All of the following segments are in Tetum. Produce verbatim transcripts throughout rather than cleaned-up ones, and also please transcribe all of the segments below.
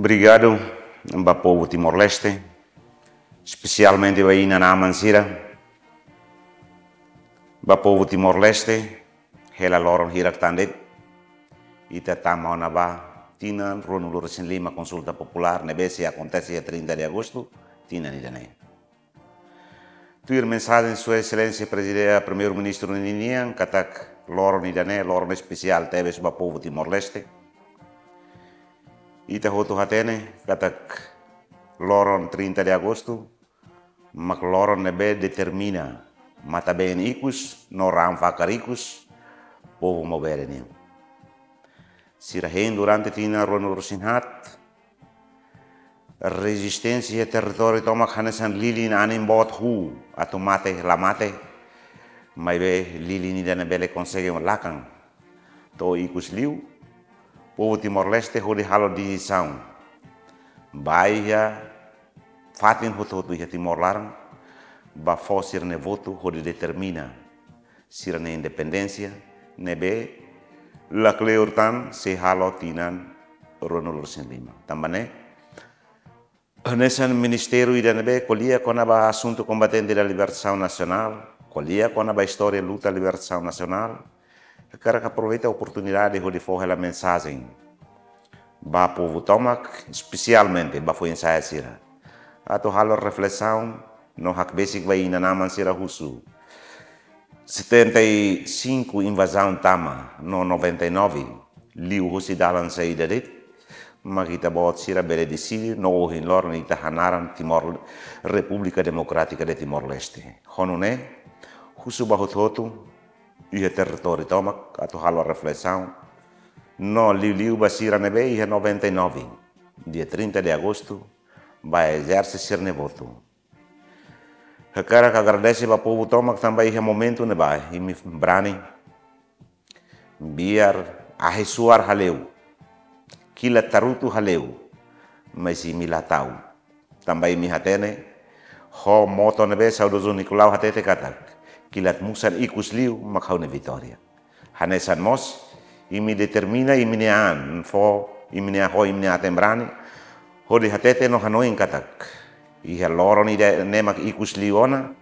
Obrigadu ba povu Timor-Leste, espesialmente ba inan-aman sira. Ba povu Timor-Leste, hela loron hirak tan de'it, ita tama ona ba tinan ruanulu-resin-lima konsulta populár ne'ebé sei akontese iha trinta de agostu tinan ida-ne'e. Tuir mensajen Sua Exelénsia Prezidente, Primeiru-Ministru ninian, katak loron ida-ne'e loron espesiál tebes ba povu Timor-Leste. Ita hotu hatene katak loron trinta de agostu mak loron ne'ebé determina matan-been ikus no raan fakar ikus povu Maubere nian. Sira hein durante tinan ruanulu-resin-haat, rezisténsia iha territóriu tomak hanesan lilin anin boot huu atu mate la mate, maibé lilin ida-ne'e bele konsege lakan to'o ikus liu. Povu Timor-Leste hodi halo desizaun ba iha fatin hotu-hotu iha Timor laran, ba fó sira-nia votu hodi determina sira-nia independénsia ne'ebé la kleur tan sei halo tinan ruanulu-resin-lima. Tanba ne'e, hanesan ministériu ida ne'ebé ko'alia kona-ba asuntu kombatente da libertasaun nasionál, ko'alia kona-ba istória luta libertasaun nasionál, hakarak aproveita oportunidade hodi fó hela mensajen ba povu tomak, espesialmente ba foin-sa'e sira, atu halo reflesaun no hakbesik ba inan-aman sira husu setenta e cinco invazaun tama no noventa e nove liu husi dalan saida de'it, mak ita-boot sira bele deside no ohin loron ita hanaran Timor, República Democrática de Timor-Leste. Ho nune'e, husu ba hotu-hotu iha territóriu tomak atu halo reflesaun no liuliu ba sira ne'ebé iha noventa e nove, dia trinta de agostu, ba ezerse sira-nia votu. Hakarak agradese ba povu tomak tanba iha momentu ne'ebá imi brani biar ahi suar hale'u, kilat tarutu hale'u, mas imi la ta'uk. Tanba imi hatene ho moto ne'ebé saudozu Nicolau hatete katak, kilat musan ikus liu mak ha'u-nia vitória. Hanesan mós, imi determina imi-nia an, fó imi-nia, ho imi-nia aten brani hodi hatete no hanoin katak iha loron ida-ne'e mak ikus liu ona.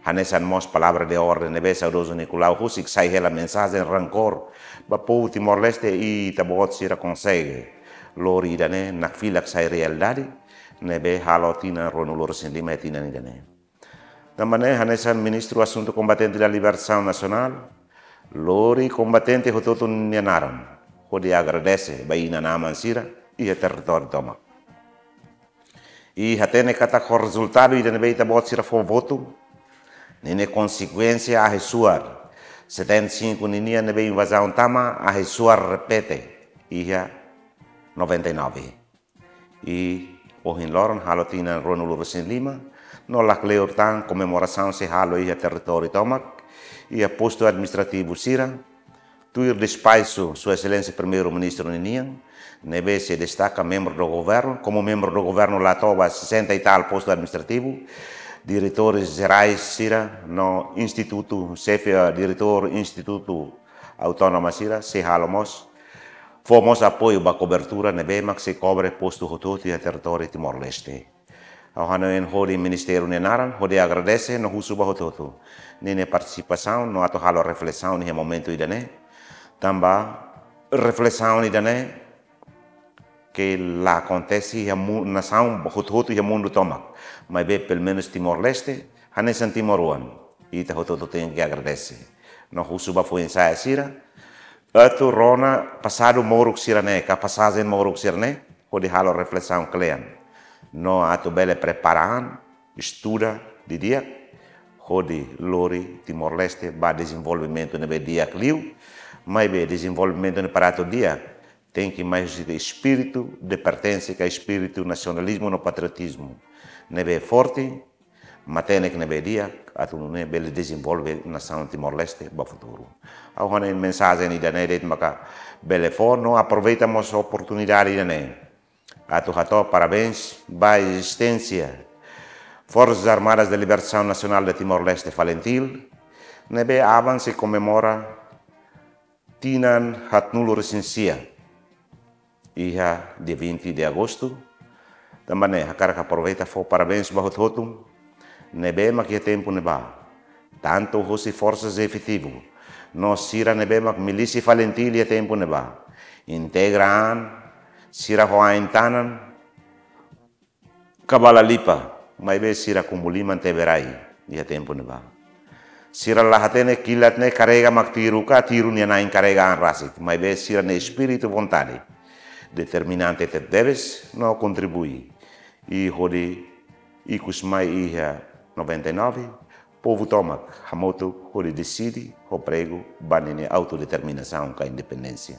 Hanesan mós palavra de orden ne'ebé saudozu Nicolau husik, sai hela mensajen rankór ba povu Timor-Leste, ita-boot sira konsege lori ida-ne'e nakfilak sai realidade, ne'ebé halo tinan ruanulu-resin-lima iha tinan ida-ne'e. Tanba ne'e hanesan Ministru Asuntu Kombatente da Libertasaun Nasionál, lori kombatente hotu-hotu nia naran hodi agradese ba inan-aman sira iha territóriu tomak. I hatene katak ho rezultadu ida ne'ebé ita-boot sira fó votu, ninia konsekuénsia ahi suar setenta e cinco ninian ne'ebé invazaun tama, ahi suar repete iha noventa e nove. I ohin loron halo tinan ruanulu-resin-lima, no la kleur tan komemorasaun sei halo iha territóriu tomak, iha postu administrativu sira, tuir despaxu Sua Exelénsia Primeiru-Ministru ninian, ne'ebé sei destaka membru do governu, komu membru do governu la to'o ba sessenta e tal postu administrativu, diretores jerais sira no institutu, xefe, eh, diretór institutu autónoma sira, sei halo mós, fó mós apoiu ba kobertura ne'ebé mak sei kobre postu hotu-hotu iha territóriu Timor-Leste. Ha'u hanoin hodi ministériu nia naran hodi agradese no husu ba hotu-hotu ninia partisipasaun no atu halo reflesaun iha momentu ida-ne'e. Tanba reflesaun ida-ne'e ke la akontese iha mu-, nasaun hotu-hotu iha mundu tomak, maibé pelumenus Timor-Leste, hanesan timoroan, ita hotu-hotu tenke agradese no husu ba foin-sa'e sira atu rona pasadu moruk sira-ne'e, ka pasajen moruk sira-ne'e, hodi halo reflesaun kle'an no atu bele prepara an, estuda didi'ak, hodi lori Timor-Leste ba dezenvolvimentu ne'ebé di'ak liu. Maibé dezenvolvimentu ne'e para atu di'ak, tenke mai husi espíritu de pertensa, ka espíritu nasionalizmu no patriotizmu ne'ebé forte, matenek ne'ebé di'ak, atu nune'e bele dezenvolve nasaun Timor-Leste ba futuru. Ha'u hanoin mensajen ida-ne'e de'it maka bele fó no aproveita mós oportunidade ida-ne'e atu hato'o parabéns ba ezisténsia Forças Armadas de Libertação Nacional de Timor-Leste, FALINTIL, ne'ebé aban sei komemora tinan haatnulu-resin-sia iha dia vinte de agostu. Tanba ne'e hakarak aproveita fó parabéns ba hotu-hotu ne'ebé mak iha tempu ne'ebá, tantu husi forsas efetivu no sira ne'ebé mak milísia FALINTIL iha tempu ne'ebá, integra an, sira ho ain-tanan, kabala lipa, maibé sira kumu liman tebe rai iha tempu ne'ebá. Sira la hatene kilat ne'e karrega mak tiru ka, tiru nia na'in karrega an rasik, maibé sira-nia espíritu, vontade, determinante tebetebes no kontribui. I hodi ikus mai iha noventa e nove, povu tomak hamutuk hodi deside ho pregu ba ninia autodeterminasaun ka independénsia.